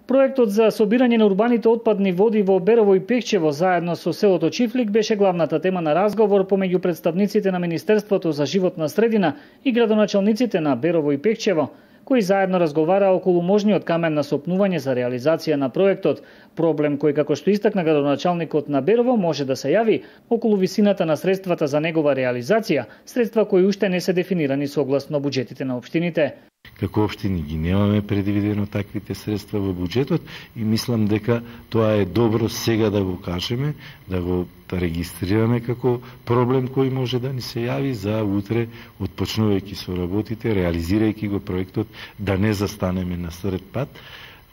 Проектот за собирање на урбаните отпадни води во Берово и Пехчево заедно со селото Чифлик беше главната тема на разговор помеѓу представниците на Министерството за животна средина и градоначалниците на Берово и Пехчево, кои заедно разговараа околу можниот камен на сопнување за реализација на проектот, проблем кој, како што истакна градоначалникот на Берово, може да се јави околу висината на средствата за негова реализација, средства кои уште не се дефинирани согласно буџетите на општините. Како општини ги немаме предвидено таквите средства во буџетот и мислам дека тоа е добро сега да го кажеме, да го регистрираме како проблем кој може да ни се јави за утре, отпочнувајќи со работите, реализирајќи го проектот, да не застанеме на сред пат,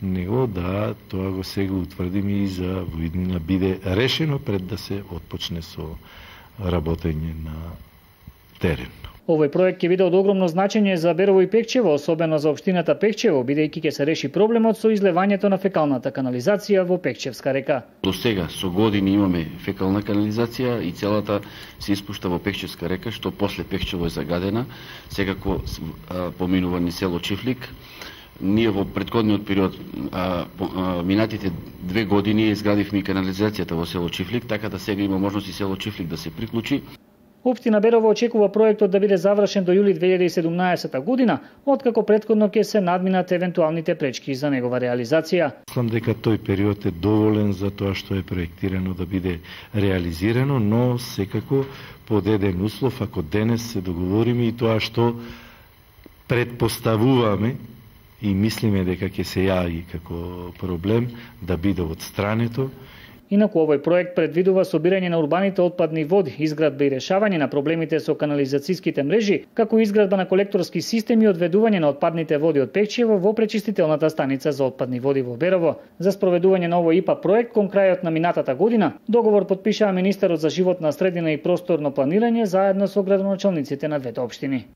него да тоа го сега утврдиме и за во иднина биде решено пред да се отпочне со работење на терен. Овој проект ќе биде од огромно значење за Берово и Пехчево, особено за општината Пехчево, бидејќи ќе се реши проблемот со излевањето на фекалната канализација во Пехчевска река. До сега со години имаме фекална канализација и целата се испушта во Пехчевска река, што после Пехчево е загадена, секако поминува низ село Чифлик. Ние во претходниот период, минатите 2 години, изградивме канализацијата во село Чифлик, така да сега има можност и село Чифлик да се приклучи. Општина Берово очекува проектот да биде завршен до јули 2017 година, откако претходно ќе се надминат евентуалните пречки за негова реализација. Мислам дека тој период е доволен за тоа што е проектирано да биде реализирано, но секако под еден услов, ако денес се договориме и тоа што предпоставуваме и мислиме дека ќе се јави како проблем да биде отстрането. Инаку овој проект предвидува собирање на урбаните отпадни води, изградба и решавање на проблемите со канализацијските мрежи, како изградба на колекторски системи и одведување на отпадните води од Пехчево во пречистителната станица за отпадни води во Берово. За спроведување на овој ИПА проект кон крајот на минатата година, договор потпишаа министерот за животна средина и просторно планирање заедно со градоначалниците на двете општини.